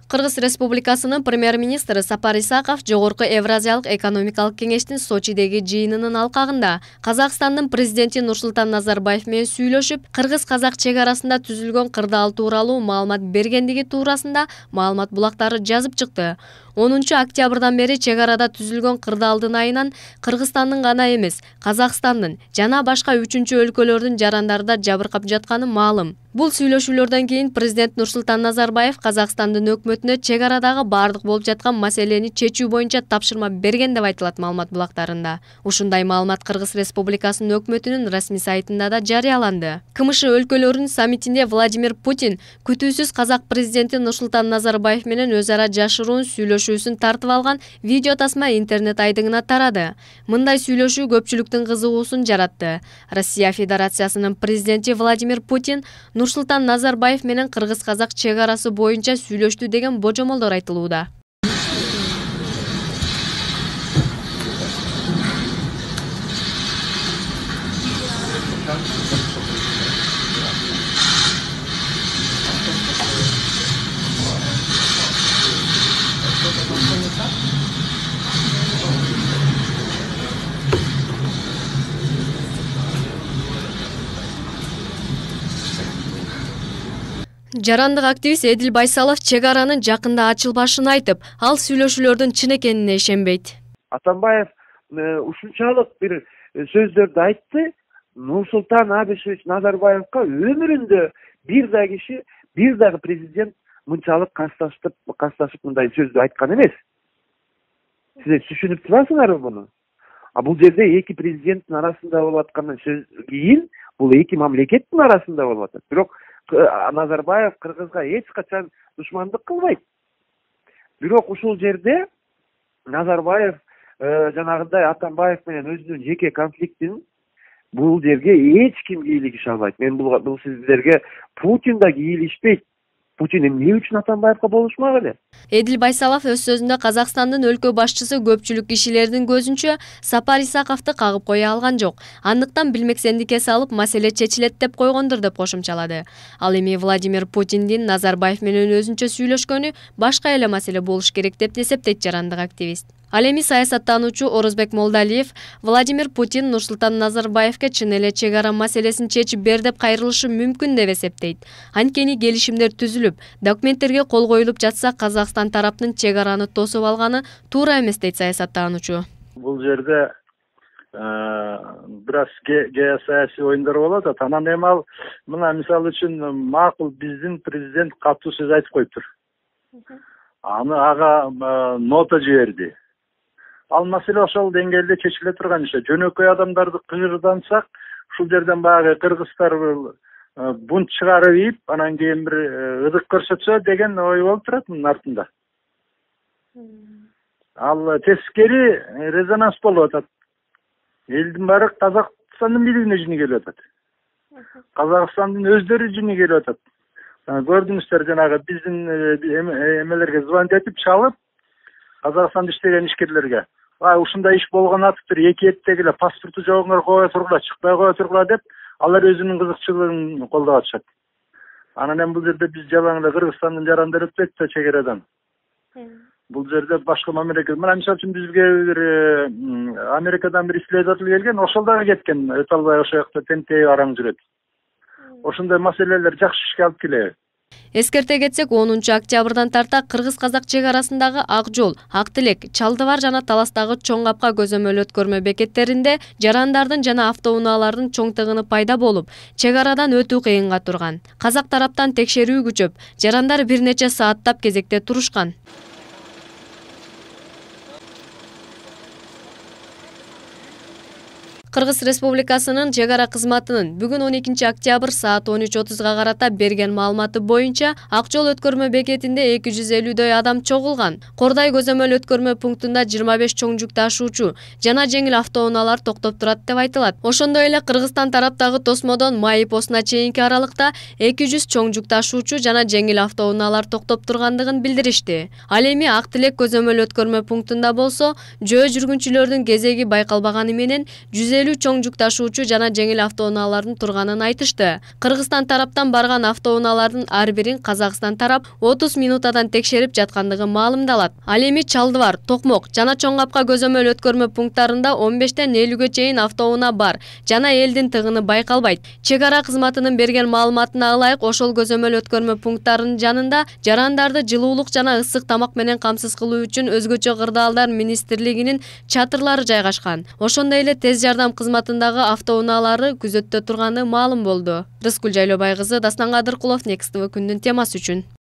Кыргыз Республикасынын премьер-министри Сапар Исаков Жогорку Евразиялык экономикалык кеңештин Сочидеги жыйынынын алкагында Казакстандын президенти Нурсултан Назарбаев менен сүйлөшүп, кыргыз-казак чек арасында түзүлгөн кырдаал тууралуу маалымат бергендиги туурасында маалымат булактары жазып чыкты. 10 октябрдан бери чек арада түзүлгөн кырдаалдын айынан Кыргызстандын гана эмес, Казакстандын жана башка 3-өлкөлөрдүн жарандары да жабыркап жатканы маалым. Бул сүйлөшүүлөрдөн кийин президент Нурсултан Назарбаев Казакстандын өкмөтүнө чек арадагы бардык болуп жаткан маселени чечүү боюнча тапшырма берген деп айтылат маалымат булактарында. Ушундай маалымат Кыргыз Республикасынын өкмөтүнүн расмий сайтында да жарыяланды. КМШ өлкөлөрүнүн саммитинде Владимир Путин күтүүсүз казак президенти Нурсултан Назарбаев менен өз ара жашыруун сүйлөшүүсүн тартып алган видео тасма интернет айдыңына тарады. Мындай сүйлөшүү көпчүлүктүн кызыгуусун жаратты. Россия Федерациясынын президенти Владимир Путин Нурсултан Назарбаев менен кыргыз-казак чек арасы боюнча сүйлөштү деген божомолдор айтылууда. Жарандык активист Эдил Байсалов чек аранын жакында ачылбашын айтып, ал сүйлөшүүлөрдүн чын экенине ишенбейт. Атамбаев ушунчалык бир сөздөрдү айтты. Нурсултан Абишевич Назарбаевка өмүрүндө бир дагы киши, бир дагы президент мынчалык касташып мындай сөздү айткан эмес. Сиз түшүнүп турасыңарбы буну? Бул жерде эки президенттин арасында болуп аткандан кийин бул эки мамлекеттин арасында болуп атат. Бирок Назарбаев Кыргызга эч качан душмандык кылбайт. Бирок ушул жерде Назарбаев жанагындай Атамбаев менен өзүнүн жеке конфликтин бул жерге эч ким кийлигише албайт. Мен бул сиздерге Путин да кийлишпейт. Путин эмне үчүн Атамбаевка болушмак эле? Эдил Байсалов өз сөзүндө Казакстандын өлкө башчысы көпчүлүк кишилердин көзүнчө Сапар Исаковду кагып кое алган жок. Андыктан билмексендикке салып маселе чечилет деп койгондур деп кошумчалады. Ал эми Владимир Путиндин Назарбаев менен өзүнчө сүйлөшкөнү башка эле маселе болуш керек деп эсептейт жарандык активист. Ал эми саясаттануучу Орозбек Молдалиев Владимир Путин Нурсултан Назарбаевке чын эле чек ара маселесин чечип бер деп кайрылышы мүмкүн деп эсептейт. Анткени келишимдер түзүлүп, документтерге кол коюлуп жатса, Казакстан тараптын чек араны тосуп алганы туура эмес дейт саясаттануучу. Бул жерде бир аз геосаясий оюндар болуп атат. Анан эми ал мына мисалы үчүн макул биздин президент катуу сөз айтып коюптур. Аны ага нота жиберди. Ал маселе ошол деңгээлде чечиле турган иш. Жөнөкөй адамдарды кыйырдансак, ушул жерден баягы кыргыздар бунт чыгарып ийип, анан кийин бир ыдык көрсөтсө деген ой болуп турат мунун артында. Ал тескери резонанс болуп атат. Элдин баары Казакстандын бийлигине жини келип атат. Казакстандын өздөрү жини келип атат. Көрдүңүздөр, жанагы биздин эмелерге звонить этип чалып, Казакстанда иштеген ишкерлерге ушундай иш болгон атыптыр, эки эттеги эле паспорту жогуңар кое тургула, чыкпай кое тургула деп, алар өзүнүн кызыкчылыгын колдоп атышат. Анан эми бул жерде биз жалаң эле Кыргызстандын жарандары өтпөйт да чек арадан. Бул жерде башка мамлекет, мына мисалы үчүн бизге бир Америкадан бир исследователь келген, ошол дагы кеткен, өтө албай ошол жакта тентей араң жүрөт. Ошондой маселелер жакшы ишке алып келеби? Эскерте кетсек, 10 октябрдан тарта кыргыз-казак чек арасындагы Ак жол, Ак тилек, Чалдыбар жана Таластагы чоң капка көзөмөл өткөрмө бекеттеринде жарандардын жана автоунаалардын чоң тыгыны пайда болуп, чек арадан өтүү кыйынга турган. Казак тараптан текшерүү күчөп, жарандар бир нече сааттап кезекте турушкан. Кыргыз Республикасынын чек ара кызматынын бүгүн 12 октябрь саат 13:30 карата берген маалыматы боюнча Ак жол өткөрмө бекетинде 250дөй адам чогулган. Кордай көзөмөл өткөрмө пунктунда 25 чоң жүк ташуучу жана жеңил автоунаалар токтоп турат деп айтылат. Ошондой эле Кыргызстан тараптагы тосмодон Майы постуна чейинки аралыкта 200 чоң жүк ташуучу жана жеңил автоунаалар токтоп тургандыгын билдиришти. Ал эми Ак тилек көзөмөл өткөрмө пунктунда болсо, жөө жүргүнчүлөрдүн кезеги байкалбаганы менен 150 келүү чоң жүк ташуучу жана жеңил автоунаалардын турганын айтышты. Кыргызстан тараптан барган автоунаалардын ар бирин Казакстан тарап 30 минутадан текшерип жаткандыгы маалымдалат. Ал эми Чалдыбар, Токмок жана Чоң Капка көзөмөл өткөрмө пункттарында 15тен 50ге чейин автоунаа бар жана элдин тыгыны байкалбайт. Чек ара кызматынын берген маалыматына ылайык, ошол көзөмөл өткөрмө пункттарынын жанында жарандарды жылуулук жана ысык тамак менен камсыз кылуу үчүн өзгөчө кырдаалдар министрлигинин чатырлары жайгашкан. Ошондой эле тез жардам кызматындагы автоунаалары күзөттө турганы маалым болду. Рыскүл Жайлообай кызы, Дастан Кадыркулов, Next TV күндүн темасы үчүн.